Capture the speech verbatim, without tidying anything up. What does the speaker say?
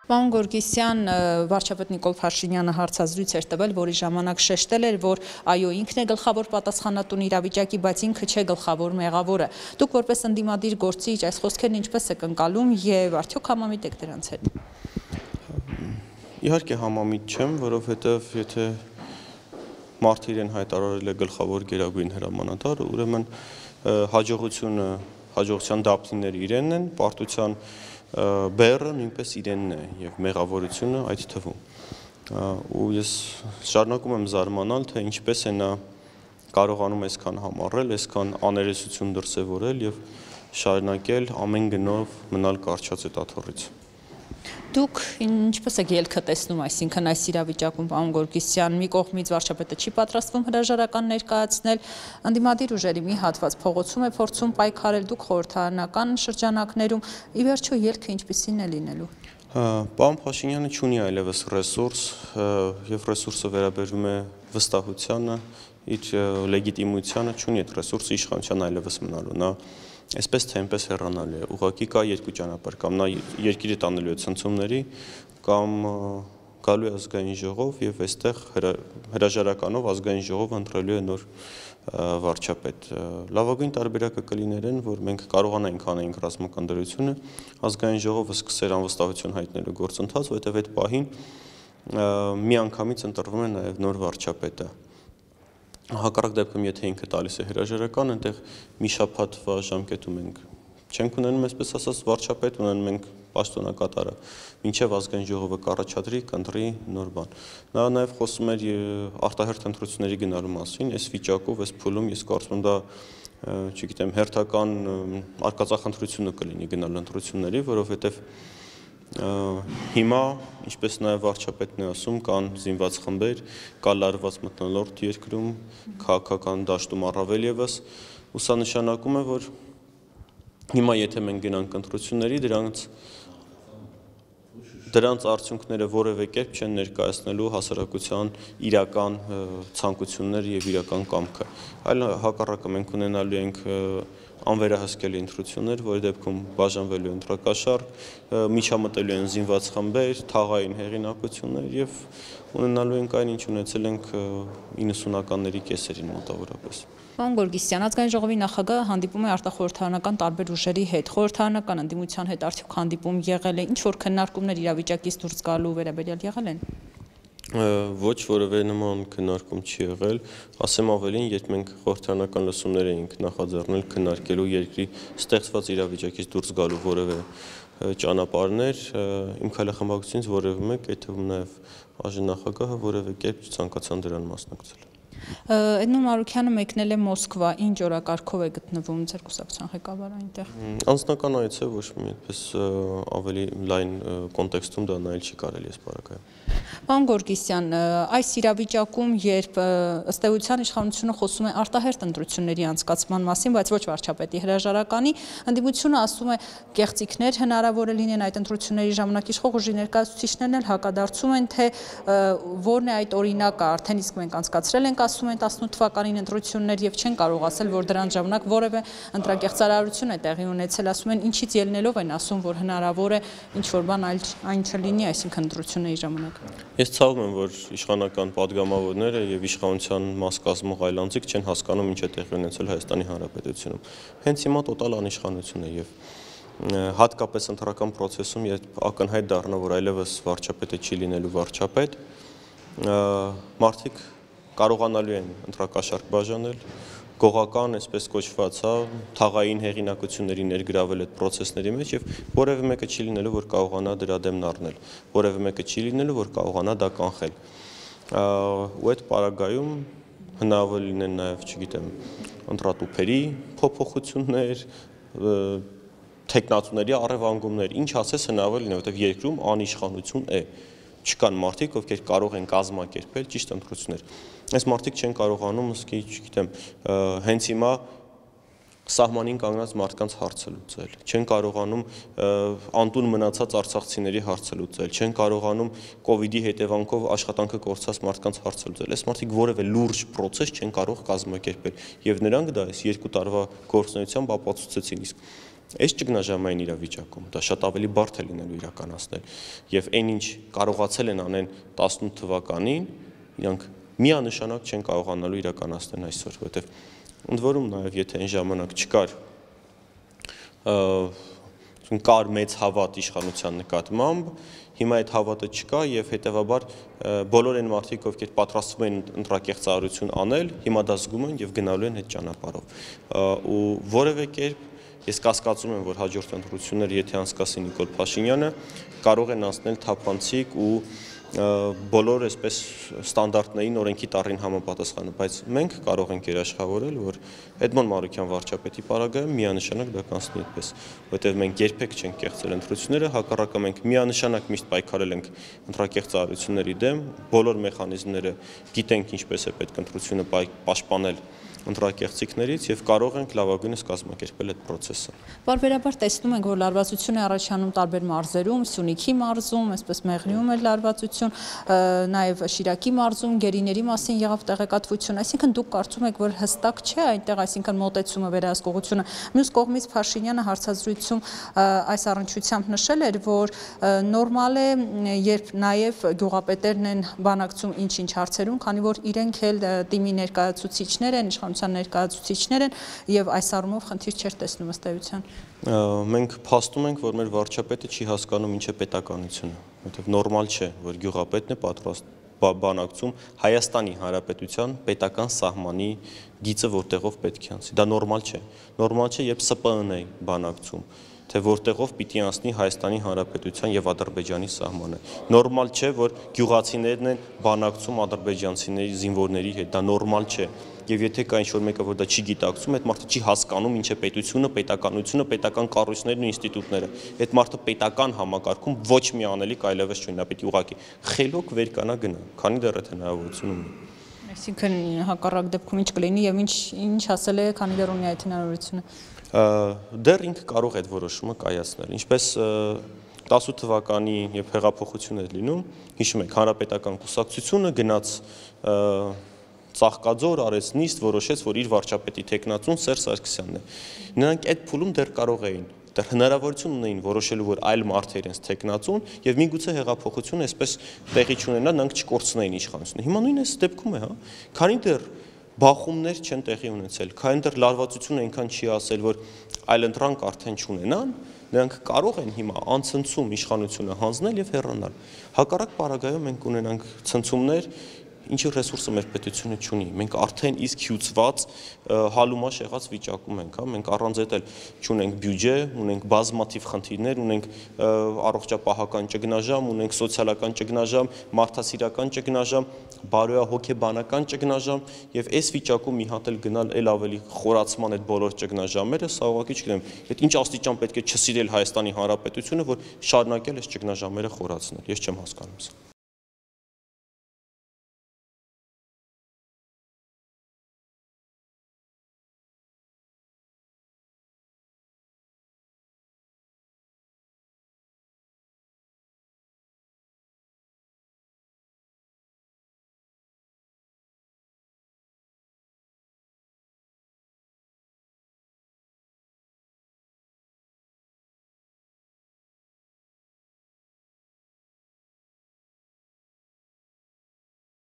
Պարոն Գորգիսյան, վարչապետ Նիկոլ Փաշինյանը հարցազրույց էր տվել, որի ժամանակ շեշտել էր, որ այո, ինքն է գլխավոր պատասխանատուն իրավիճակի, բայց ինքը չէ գլխավոր մեղավորը։ Դուք որպես ընդդիմադիր գործիչ այս խոսքերն ինչպես եք ընկալում եւ արդյոք համամիտ եք դրանց հետ։ Իհարկե համամիտ չեմ, որովհետեւ եթե մարդը իրեն հայտարարել է գլխավոր գերագույն հրամանատար, ուրեմն հաջողությունը, հաջողության դափնիները իրենն են, պարտության բեռը նույնպես իրենն է եւ մեղավորությունը այդ թվում։ Ու ես շարունակում եմ զարմանալ, թե ինչպես է նա կարողանում այսքան համառել, այսքան աներեսություն դրսևորել եւ շարունակել ամեն գնով մնալ կարճած այդ աթոռից։ Դուք ինչպես եք ելքը տեսնում, այսինքն այս իրավիճակում, պարոն Գորգիսյան, մի կողմից վարչապետը չի պատրաստվում հրաժարական ներկայացնել, ընդդիմադիր ուժերի մի հատված փողոցում է փորձում պայքարել, դուք խորհրդարանական շրջանակներում, ի վերջո ելքը ինչպիսին է լինելու։ Պարոն Փաշինյանը չունի այլևս ռեսուրս եւ ռեսուրսը վերաբերում է վստահությանը, իր լեգիտիմությանը, չունի այդ ռեսուրսը իշխանության այլևս մնալու։ Նա այսպես թե այնպես հեռանալու է։ Ուղղակի կա երկու ճանապարհ, կամ նա երկիրը տանելու է ցնցումների, կամ գալու է ազգային ժողով եւ այստեղ հրաժարականով ազգային ժողովը ընտրելու է նոր վարչապետ։ Լավագույն տարբերակը կլիներ այն, որ մենք կարողանայինք անենք ռազմական դրությունը, ազգային ժողովը սկսեր անվստահություն հայտնելու գործընթաց, որովհետեւ այդ պահին միանգամից ընտրվում է նաեւ նոր վարչապետը։ Հակառակ դեպքում, եթե ինքը տալիս է հրաժարական, այնտեղ մի շաբաթվա ժամկետում ենք չենք ունենում, այսպես ասած, վարչապետ, ունենում ենք պաշտոնակատարը, մինչև ազգային ժողովը կառաջադրի, կընտրի նոր բան։ Նա նաև խոսում էր արտահերթ ընտրությունների գնալու մասին, այս վիճակով, այս փուլում ես կարծում եմ դա, չգիտեմ, հերթական արկածախնդրությունը կլինի գնալ ընտրությունների, որովհետև հիմա, ինչպես նաև վարչապետն է ասում, կան զինված խմբեր, կա լարված մթնոլորտ երկրում, քաղաքական դաշտում առավել ևս, ու սա նշանակում է, որ հիմա եթե մենք գնանք ընտրությունների, դրանց դրանց արդյունքները որևէ կերպ չեն ներկայացնելու հասարակության իրական ցանկությունները եւ իրական կամքը։ Այլ հակառակը մենք ունենալու ենք անվերահսկելի ընտրություններ, որի դեպքում բաժանվելու է ընտրակաշառք, միջամտելու են զինված խմբեր, թաղային հեղինակություններ եւ ունենալու ենք այն, ինչ ունեցել ենք իննսունականների կեսերին մոտավորապես։ Պարոն Գորգիսյան, ազգային ժողովի նախագահը հանդիպում է արտախորհրդարանական տարբեր ուժերի հետ, խորհրդարանական ընդդիմության հետ արդյոք հանդիպում եղել է, ինչ որ քննարկումներ իրավիճակից դուրս գալու վերաբերյալ եղել են։ Ոչ որևէ նման քննարկում չի եղել, ասեմ ավելին, երբ մենք խորհրդարանական լսումներ էինք նախաձեռնել քննարկելու երկրի ստեղծված իրավիճակից դուրս գալու որևէ ճանապարհներ, իմ քայլախմբակցությունից որևէ մեկ, այդ թվում նաև այժմ նախագահը որևէ կերպ չցանկացան դրան մասնակցել։ Էդմոն Մարուքյանը մեկնել է Մոսկվա, ինչ օրակարգով է գտնվում ձեր կուսակցության ղեկավարը այնտեղ։ Անձնական այց է, ոչ մի այդպես ավելի լայն կոնտեքստում դա նայել չի կարելի ես պարագայում։ Պարոն Գորգիսյան, այս իրավիճակում, երբ ըստ էության իշխանությունը խոսում է արտահերթ ընտրությունների անցկացման մասին, բայց ոչ վարչապետի հրաժարականի, ընդդիմությունը ասում է կեղծիքներ հնարավոր է լինեն այդ ընտրությունների ժամանակ, իշխող ուժի ներկայացուցիչներն էլ հակադարձում են, թե որն է այդ օրինակը, արդեն իսկ մենք անցկացրել ենք ասում են տասնութ թվականին ընտրություններ եւ չեն կարող ասել, որ դրանց ժամանակ որևէ ընտրակեղծարարություն է տեղի ունեցել, ասում են ինչից ելնելով են ասում, որ հնարավոր է ինչ որ բան այլ այն չլինի, այսինքն ընտրությունների ժամանակ։ Ես ցավում եմ, որ իշխանական падգամավորները եւ իշխանության մաս կազմող այլ անձիկ չեն հասկանում ինչ է տեղի ունեցել Հայաստանի Հանրապետությունում։ Հենց հիմա տոտալ անիշխանություն է եւ հատկապես ընտրական process-ում, երբ ակնհայտ դառնա, որ այլևս վարչապետը չի լինելու վարչապետ, մարդիկ կարողանալու են ընտրակաշառք բաժանել, գողական, այսպես կոչված, թաղային հեղինակությունների ներգրավել այդ process-ների մեջ եւ որևէ մեկը չի լինելու, որ կարողանա դրա դեմն առնել, որևէ մեկը չի լինելու, որ կարողանա դա կանխել։ Ու այդ պարագայում հնարավոր լինեն նաեւ, չգիտեմ, ընտրատուփերի փոփոխություններ, տեխնատուների առևանգումներ, ինչ ասես հնարավոր լինի, որովհետեւ երկրում անիշխանություն է։ Չկան մարդիկ, ովքեր կարող են կազմակերպել ճիշտ ընտրություններ։ Այս մարդիկ չեն կարողանում, ըսկի, չգիտեմ, հենց հիմա սահմանին կանգնած մարդկանց հարցը լուծել, չեն կարողանում անտուն մնացած արցախցիների հարցը լուծել, չեն կարողանում կովիդի հետևանքով աշխատանքը կորցած մարդկանց հարցը լուծել։ Այս մարդիկ որևէ լուրջ process չեն կարող կազմակերպել, եւ նրանք դա այս երկու տարվա գործունեությամբ ապացուցեցին, իսկ Այս ճգնաժամային իրավիճակում դա շատ ավելի բարդ է լինելու իրականացնել եւ այն ինչ կարողացել են անեն տասնութ թվականին, իրանք միանշանակ չեն կարողանալու իրականացնել այսօր, որովհետեւ ընդ որում նաեւ եթե այն ժամանակ չկար կար մեծ հավատ իշխանության նկատմամբ, հիմա այդ հավատը չկա եւ հետեւաբար բոլոր այն մարդիկ, ովքեր պատրաստվում են ընտրակեղծարարություն անել, հիմա դա զգում են եւ գնալու են այդ ճանապարհով։ Ու որևէ կերպ ես կասկածում եմ, որ հաջորդ ընտրությունները, եթե անցկացի Նիկոլ Փաշինյանը, կարող են անցնել թափանցիկ ու բոլոր այսպես ստանդարտներին օրենքի տառին համապատասխանը, բայց մենք կարող ենք երաշխավորել, որ Էդմոն Մանուկյան վարչապետի պարագայում միանշանակ դա կանցնի այդպես, որտեղ մենք երբեք չենք կեղծել ընտրությունները, հակառակը մենք միանշանակ միշտ պայքարել ենք ընտրակեղծարարությունների դեմ, բոլոր մեխանիզմները գիտենք ինչպես է պետք ընտրությունը պաշտպանել ընտրակեղծիքներից եւ կարող ենք լավագույնս կազմակերպել այդ process-ը։ Բարբերաբար տեսնում ենք, որ լարվածություն է առաջանում տարբեր մարզերում, Սյունիքի մարզում, այսպես Մեղրիում էլ լարվածություն, նաեւ Շիրակի մարզում գերիների մասին եղավ տեղեկատվություն, այսինքն դուք կարծում եք, որ հստակ չէ այնտեղ, այսինքն մոտեցումը վերահսկողությունը։ Մյուս կողմից Փաշինյանը հարցազրույցում այս առնչությամբ նշել էր, որ նորմալ է, երբ նաեւ գյուղապետերն են բանակցում ինչ-ինչ հարցերում, քանի որ իրենք էլ թիմի ներկայացուցիչներ են, ներկայացուցիչներ են եւ այս առումով խնդիր չէր տեսնում ըստ էության։ Մենք փաստում ենք, որ մեր վարչապետը չի հասկանում ինչ է պետականությունը, որովհետեւ նորմալ չէ, որ գյուղապետն է պատրաստ բանակցում Հայաստանի Հանրապետության պետական սահմանի գիծը որտեղով պետք է անցի։ Դա նորմալ չէ։ Նորմալ չէ, երբ Սպ Ն-ն է բանակցում, թե որտեղով պիտի անցնի Հայաստանի Հանրապետության եւ Ադրբեջանի սահմանը։ Նորմալ չէ, որ գյուղացիներն են բանակցում ադրբեջանցիների զինվորների հետ։ Դա նորմալ չէ։ Եվ եթե կա ինչ-որ մեկը, որ դա չի գիտակցում, այդ մարդը չի հասկանում ինչ է պետությունը, պետականությունը, պետական կառույցներն ու ինստիտուտները։ Այդ մարդը պետական համակարգում ոչ մի անելիք այլևս չունի, նա պիտի ուղղակի խելոք վերկանա գնա, քանի դեռ այդ հնարավորություն ունի։ Այսինքն հակառակ դեպքում ինչ կլինի եւ ինչ ինչ ասել է, քանի դեռ ունի այդ հնարավորությունը։ Դեռ ինքը կարող է այդ որոշումը կայացնել։ Ինչպես տասութ թվականի երբ հեղափոխություն էր լինում, հիշում եք, հանրապետական կուսակցությունը գնաց Ծաղկաձոր արեց նիստ, որոշեց, որ իր վարչապետի տեխնացուն Սերժ Սարգսյանն է։ Նրանք այդ փուլում դեռ կարող էին, դեռ հնարավորություն ունեին որոշելու, որ այլ մարդ է իրենց տեխնացուն, եւ միգուցե հեղափոխությունը այսպես տեղի չունենա, նրանք չկորցնեին իշխանությունը։ Հիմա նույն էս դեպքում է, հա։ Քանի դեռ բախումներ չեն տեղի ունեցել, քանի դեռ լարվածությունը այնքան չի ասել, որ այլընտրանք արդեն չունենան, նրանք կարող են հիմա անցնցում իշխանությունը հանձնել եւ հեռանալ։ Հակառակ պարագայում մենք ունենանք ցնցումներ, ինչի ռեսուրսը մեր պետությունը չունի։ Մենք արդեն իսկ հյուծված հալումաշ եղած վիճակում ենք, հա, մենք առանց այդ էլ չունենք բյուջե, ունենք բազմաթիվ խնդիրներ, ունենք առողջապահական ճգնաժամ, ունենք սոցիալական ճգնաժամ, մարդասիրական ճգնաժամ, բարոյահոգեբանական ճգնաժամ եւ այս վիճակում մի հատ էլ գնալ էլ ավելի խորացման այդ բոլոր ճգնաժամերը, սա ուղղակի չգիտեմ, այդ ինչ աստիճան պետք է չսիրել Հայաստանի Հանրապետությունը, որ շարունակել այս ճգնաժամերը խորացնել։ Ես չեմ հասկանում սա։